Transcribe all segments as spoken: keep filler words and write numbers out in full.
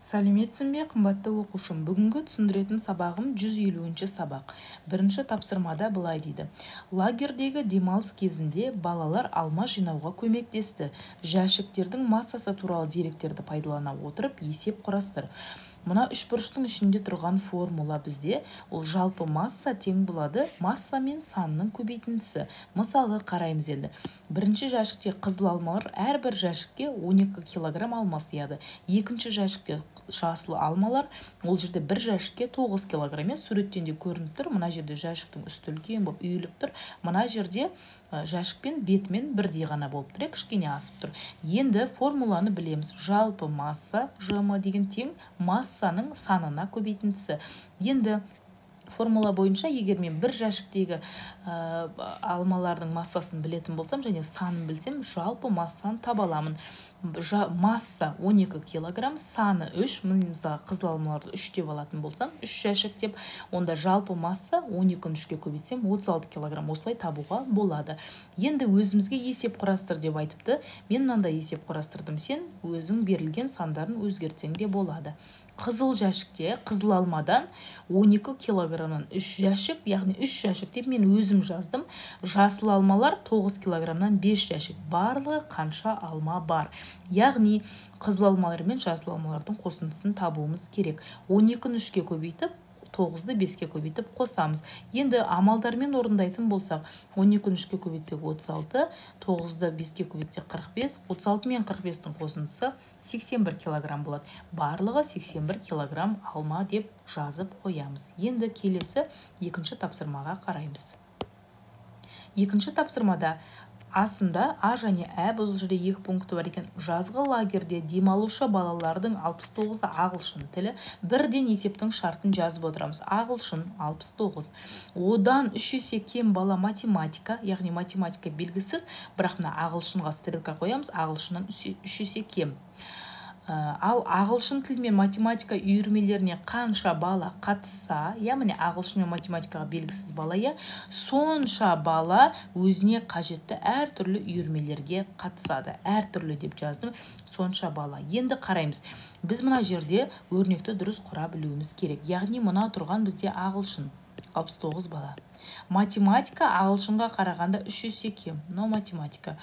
Сәлеметсің бе, қымбатты оқушым? Бүгінгі түсіндіретін сабағым жүз елуінші сабақ. Бірінші тапсырмада былай дейді. Лагердегі демалыс кезінде балалар алма жинауға көмектесті. Жәшіктердің массасы туралы деректерді пайдалана отырып есеп құрастыр. Мына үшбұрыштың ішінде тұрған формула бізде ол жалпы масса тең болады масса мен санның көбейтіндісі. Мысалы қараймыз енді. Бірінші жәшікте қызыл алмалар әрбір жәшікке он екі килограмм алма сыяды. Екінші жәшікте жасыл алмалар, ол жерде бір жәшікке тоғыз килограмм. Суреттен де көрініп тұр. Мына жерде жәшіктің үсті үлкен болып үйіліп тұр. Мына жерде жәшікпен бетімен бірдей ғана болып тұр, кішкене асып тұр. Енді формуланы білеміз. Жалпы масса жм деген тең массаның санына көбейтіндісі. Енді формула бойынша, егер мен бір жәшіктегі ә, алмалардың массасын білетін болсам, және санын білсем, жалпы массаны таба аламын. Жа, масса он екі килограмм, саны үш, мысалы қызыл алмаларды үш деп алатын болсам, үш жәшік деп, онда жалпы масса он екіні үшке көбейтсем отыз алты килограмм, осылай табуға болады. Енді өзімізге есеп құрастыр деп айтыпты. Мен мынандай есеп құрастырдым, сен өзің берілген сандарын өзгертсең де болады. Қызыл жәшікте, қызыл алмадан он екі килограммнан үш жәшік, яғни үш жәшік деп мен өзім жаздым. Жасыл алмалар тоғыз килограммнан бес жәшік. Барлығы қанша алма бар? Яғни қызыл алмалар мен жасыл алмалардың қосындысын табуымыз керек. он екіні үшке көбейтіп, тоғызды беске көбейтіп қосамыз. Енді амалдармен орындайтын болсақ, он екіні үшке көбейтсек отыз алты, тоғызды беске көбейтсек қырық бес, отыз алты мен қырық бестің қосындысы сексен бір килограмм болады. Барлығы сексен бір килограмм алма деп жазып қоямыз. Енді келесі екінші тапсырмаға қараймыз. Екінші тапсырмада астында А және Ә, бұл жерде екі пункті бар екен. Жазғы лагерде демалушы балалардың алпыс тоғызы ағылшын тілі. Бірден есептің шартын жазып отырамыз. Ағылшын алпыс тоғыз. Одан үш есе кем бала математика, яғни математика белгісіз, бірақ мына ағылшынға стрелка қоямыз. Ағылшыннан үш есе кем. Ал ағылшын тілі мен математика үйірмелеріне қанша бала қатысса, яғни ағылшын мен математикаға белгісіз бала, я, сонша бала өзіне қажетті әртүрлі үйірмелерге қатысады. Әртүрлі деп жаздым, сонша бала. Енді қараймыз. Біз мына жерде өрнекті дұрыс құра білуіміз керек. Яғни мына тұрған бізде ағылшын алпыс тоғыз бала. Математика ағылшынға қарағанда үш есе кем. Но математика.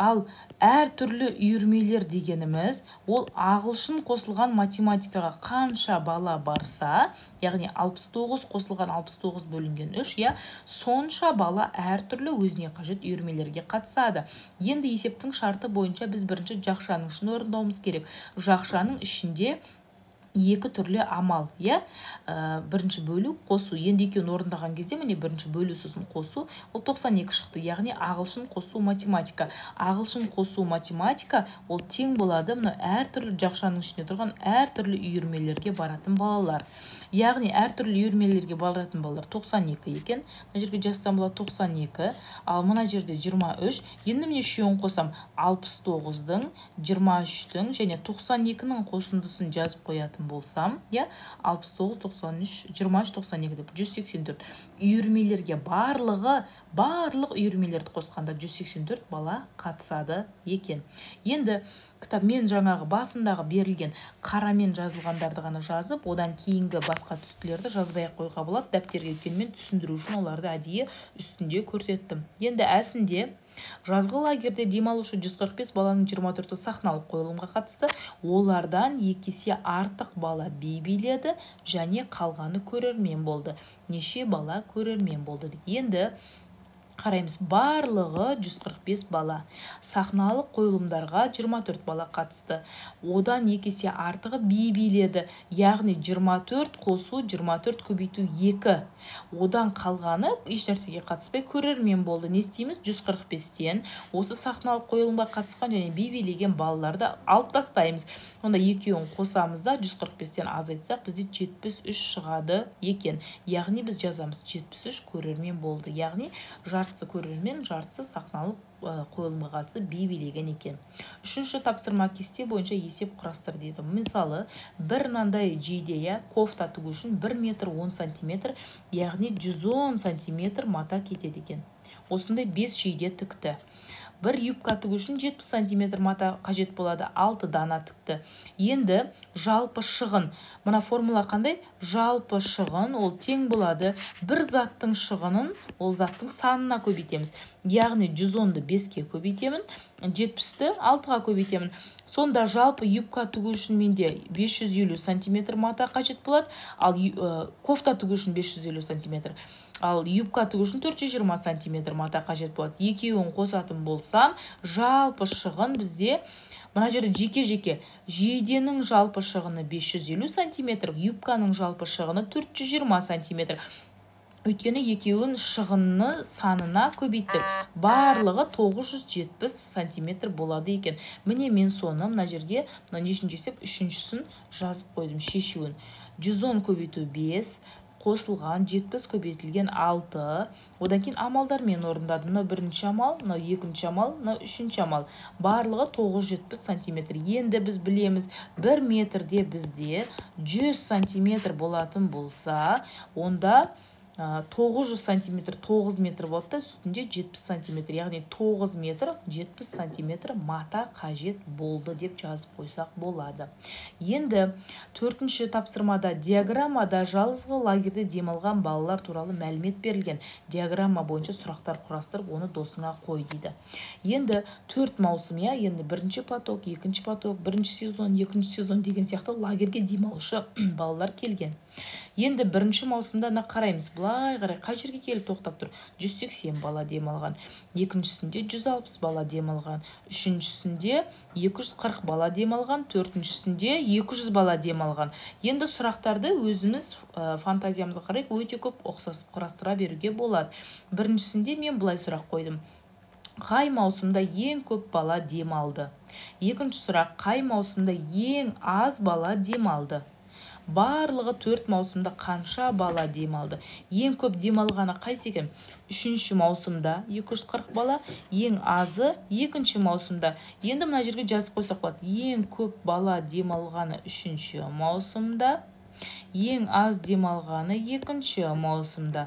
Ал әртүрлі үйірмелер дегеніміз, ол ағылшын қосылған математикаға қанша бала барса, яғни алпыс тоғыз қосылған алпыс тоғыз бөлінген үш, я, сонша бала әртүрлі өзіне қажет үйірмелерге қатысады. Енді есептің шарты бойынша біз бірінші жақшаның ішін орындауымыз керек. Жақшаның ішінде екі түрлі амал, я, бірінші бөлу, қосу. Енді екеуін орындаған кезде, міне бірінші бөлу сосын қосу, ол тоқсан екі шықты, яғни ағылшын қосу математика. Ағылшын қосу математика, ол тең болады, мұны әртүрлі жақшаның ішінде тұрған әртүрлі үйірмелерге баратын балалар. Яғни әртүрлі үйірмелерге баратын балалар тоқсан екі екен. Мына жерге жазсам болады тоқсан екі, ал мына жерде жиырма үш. Енді міне үшеуін қосам, алпыс тоғыздың, жиырма үштің және тоқсан екінің қосындысын жазып қоятын болсам, я, алпыс тоғыз, тоқсан үш, жиырма үш, тоқсан екі деп жүз сексен төрт. Үйірмелерге барлығы, барлық үйірмелерді қосқанда жүз сексен төрт бала қатысады екен. Енді кітап мен жаңағы басындағы берілген қарамен жазылғандарды ғана жазып, одан кейінгі басқа түстілерді жазбай қойға болады. Дәптерге өткенмен түсіндіру үшін оларды әдейі үстінде көрсеттім. Енді әсінде жазғы лагерде демалушы жүз қырық бес баланың жиырма төрті сахналық қойылымға қатысты. Олардан екі есе артық бала би биледі және қалғаны көрермен болды. Неше бала көрермен болды? Енді қараймыз, барлығы жүз қырық бес бала. Сахналық қойылымдарға жиырма төрт бала қатысты. Одан екі есе артығы би биледі. Яғни жиырма төрт қосу, жиырма төрт көбейту екі. Одан қалғаны еш нәрсеге қатыспай көрермен болды. Не істейміз? жүз қырық бестен осы сахналық қойылымға қатысқан және би билеген балаларды алып тастаймыз. Онда екеуін қосамыз да жүз қырық бестен азайтсақ, бізде жетпіс үш шығады екен. Яғни біз жазамыз жетпіс үш көрермен болды. Яғни жартысы көрермен, жартысы сахналық қойылымға қатысып би билеген екен. Үшінші тапсырма кесте бойынша есеп құрастыр дейді. Мысалы, бір мынандай жейде, кофта тігу үшін бір метр он сантиметр, яғни жүз он сантиметр мата кетеді екен. Осындай бес жейде тікті. бір юбка тігу үшін жетпіс сантиметр мата қажет болады, алты дана тікті. Енді жалпы шығын. Мына формула қандай? Жалпы шығын ол тең болады бір заттың шығынын ол заттың санына көбейтеміз. Яғни жүз онды беске көбейтемін, жетпісті алтыға көбейтемін. Сонда жалпы юбка тігу үшін менде бес жүз елу сантиметр мата қажет болады, ал кофта тігу үшін бес жүз елу сантиметр. Ал юбка тігу үшін төрт жүз жиырма сантиметр мата қажет болады. Екеуін қосатын болсам, жалпы шығын бізде мына жерде жеке-жеке жейденің жалпы шығыны бес жүз елу сантиметр, юбканың жалпы шығыны төрт жүз жиырма сантиметр. Өйткені екеуін шығынны санына көбейттік. Барлығы тоғыз жүз жетпіс сантиметр болады екен. Міне мен соны мына жерге нешінші есеп үшіншісін жазып қойдым шешуін. жүз он көбейту бес, қосылған жетпіс көбейтілген алты. Одан кейін амалдармен орындадым. Мына бірінші амал, мына екінші амал, мына үшінші амал. Барлығы тоғыз жүз жетпіс сантиметр. Енді біз білеміз, бір метрде бізде жүз сантиметр болатын болса, онда тоғыз жүз сантиметр тоғыз метр болды да, үстінде жетпіс сантиметр, яғни тоғыз метр жетпіс сантиметр мата қажет болды деп жазып қойсақ болады. Енді төртінші тапсырмада диаграммада жазғы лагерде демалған балалар туралы мәлімет берілген. Диаграмма бойынша сұрақтар құрастырып, оны досыңа қой дейді. Енді төрт маусым, я, енді бірінші поток, екінші поток, бірінші сезон, екінші сезон деген сияқты лагерге демалушы балалар келген. Енді бірінші маусымда на қараймыз, бұлай қарай қай жерге келіп тоқтап тұр? жүз сексен бала демалған. Екіншісінде жүз алпыс бала демалған. Үшіншісінде екі жүз қырық бала демалған. Төртіншісінде екі жүз бала демалған. Енді сұрақтарды өзіміз фантазиямызға қарай өте көп ұқсас құрастыра беруге болады. Біріншісінде мен бұлай сұрақ қойдым. Қай маусымда ең көп бала демалды? Екінші сұрақ, қай маусымда ең аз бала демалды? Барлығы төрт маусымда қанша бала демалды? Ең көп демалғаны қайсы екен? Үшінші маусымда екі жүз қырық бала, ең азы екінші маусымда. Енді мына жерге жазып қойсақ болады. Ең көп бала демалғаны үшінші маусымда, ең аз демалғаны екінші маусымда.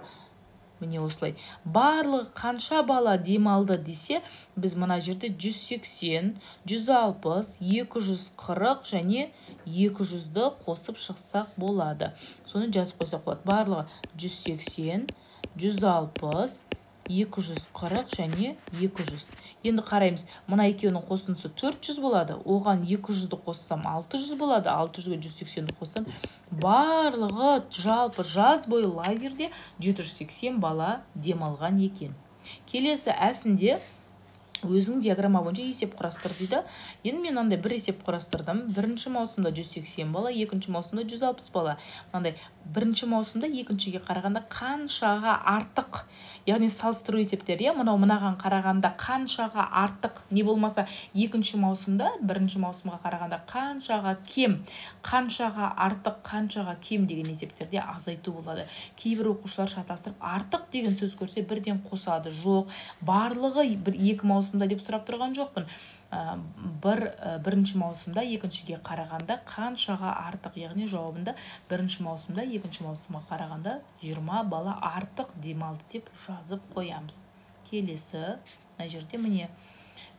Міне осылай. Барлығы қанша бала демалды десе, біз мына жерде жүз сексен, жүз алпыс, екі жүз қырық және екі жүзді қосып шықсақ болады. Соны жазып қойсақ болады. Барлығы жүз сексен, жүз алпыс, екі жүз қырық және екі жүз. Енді қараймыз, мына екеуінің қосындысы төрт жүз болады. Оған екі жүзді қоссам алты жүз болады. алты жүзге жүз сексенді қоссам, барлығы жалпы жаз бойы лагерде жеті жүз сексен бала демалған екен. Келесі әсінде өзің диаграмма бойынша есеп құрастыр дейді. Енді мен андай бір есеп құрастырдым. Бірінші маусымда жүз сексен бала, екінші маусымда жүз алпыс бала. Мынандай бірінші маусымда екіншіге қарағанда қаншаға артық, яғни салыстыру есептер, я, мынау мынаған қарағанда қаншаға артық, не болмаса екінші маусымда бірінші маусымға қарағанда қаншаға кем, қаншаға артық, қаншаға кем деген есептерде азайту болады. Кейбір оқушылар шатастырып, артық деген сөз көрсе бірден қосады. Жоқ, барлығы бір екі маусымда деп сұрап тұрған жоқпын. Бір бірінші маусымда екіншіге қарағанда қаншаға артық, яғни жауабында бірінші маусымда екінші маусымға қарағанда жиырма бала артық демалды деп жазып қоямыз. Келесі, мына жерде міне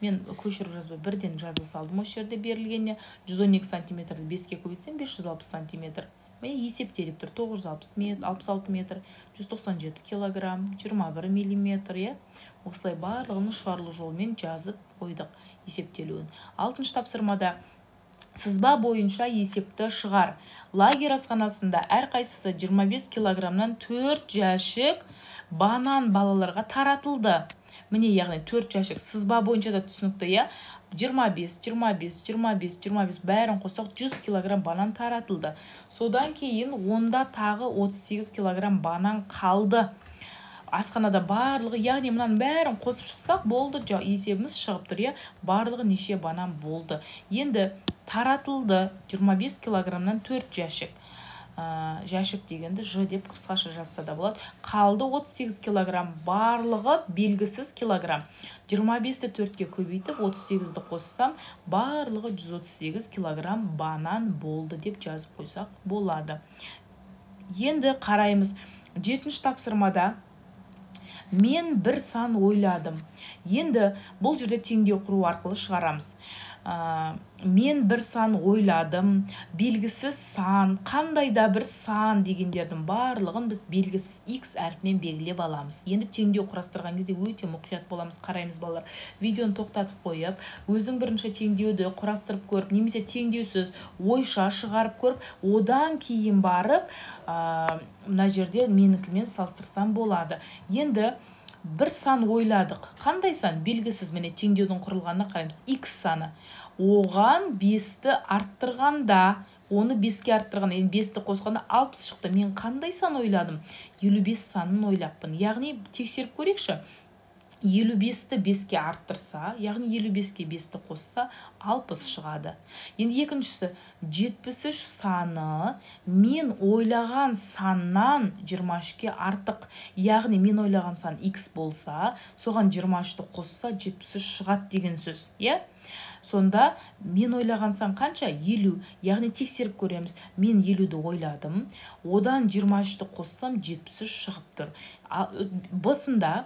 мен көшіріп жазбай бірден жаза салдым. Осы жерде берілгеніне жүз он екі сантиметрді беске көбейтсем бес жүз алпыс сантиметр. Міне есептеліп тұр. тоғыз жүз алпыс метр, алпыс алты метр, жүз тоқсан жеті килограмм, жиырма бір миллиметр, е. Осылай барлығын шығарылу жолымен жазып қойдық есептелуін. Алтыншы тапсырмада сызба бойынша есепті шығар. Лагерь асханасында әрқайсысы жиырма бес килограммнан төрт жәшік банан балаларға таратылды. Міне, яғни төрт жәшік сызба бойынша да түсінікті, я. жиырма бес, жиырма бес, жиырма бес, жиырма бес бәрін қосақ жүз килограмм банан таратылды. Содан кейін онда тағы отыз сегіз килограмм банан қалды. Асханада барлығы, яғни мұнан бәрін қосып шықсақ болды, есебіміз шығып тұр, я. Барлығы неше банан болды. Енді таратылды жиырма бес килограммнан төрт жәшік. Жәшік дегенді ж деп қысқаша жазса да болады. Қалды отыз сегіз килограмм, барлығы белгісіз килограмм. жиырма бесті төртке көбейтіп, отыз сегізді қоссам, барлығы жүз отыз сегіз килограмм банан болды деп жазып қойсақ болады. Енді қараймыз, жетінші тапсырмада мен бір сан ойладым. Енді бұл жерде теңдеу құру арқылы шығарамыз. Мен бір сан ойладым, белгісіз сан, қандай да бір сан дегендердің барлығын біз белгісіз x әріпімен белгілеп аламыз. Енді теңдеу құрастырған кезде өте мұқият боламыз, қараймыз балалар. Видеоны тоқтатып қойып, өзің бірінші теңдеуді құрастырып көріп, немесе теңдеусіз ойша шығарып көріп, одан кейін барып, мына жерде менікімен салыстырсам болады. Енді бір сан ойладық. Қандай сан? Белгісіз. Міне теңдеудің құрылғанына қараймыз. X саны. Оған бесті арттырғанда, оны беске арттырғанда, енді бесті қосқанда алпыс шықты. Мен қандай сан ойладым? елу бес санын ойлаппын. Яғни тексеріп көрейікші. елу бесті беске арттырса, яғни елу беске бесті қосса, алпыс шығады. Енді екіншісі, жетпіс үш саны мен ойлаған саннан жиырма үшке артық. Яғни мен ойлаған сан x болса, соған жиырма үшті қосса, жетпіс үш шығады деген сөз. Е? Сонда мен ойлаған сан қанша? елу. Яғни тексеріп көреміз. Мен елуді ойладым. Одан жиырма үшті қоссам, жетпіс үш шығып тұр. Бысында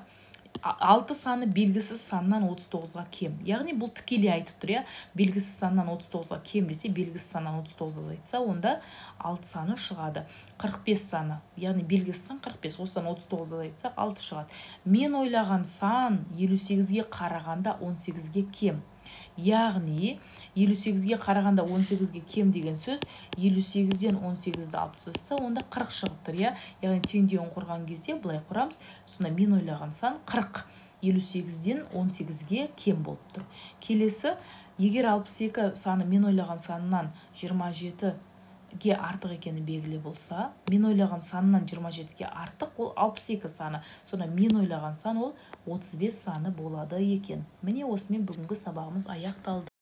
алты саны белгісіз саннан отыз тоғызға кем. Яғни бұл тікелей айтып тұр, я? Белгісіз саннан отыз тоғызға кем десе, белгісіз саннан отыз тоғызға айтса, онда алты саны шығады. қырық бес саны, яғни белгісіз сан қырық бес, осыдан отыз тоғызға айтсақ, алты шығады. Мен ойлаған сан елу сегізге қарағанда он сегізге кем. Яғни елу сегізге қарағанда он сегізге кем деген сөз, елу сегізден он сегізді алып тастаса, онда қырық шығып тұр, я? Яғни теңдеуін құрған кезде былай құрамыз. Сонда мен ойлаған сан қырық, елу сегізден он сегізге кем болып тұр. Келесі, егер алпыс екі саны мен ойлаған санынан жиырма жетіге артық екені белгілі болса, мен ойлаған санынан жиырма жетіге артық, ол алпыс екі саны. Сонда мен ойлаған сан ол отыз бес саны болады екен. Міне осымен бүгінгі сабағымыз аяқталды.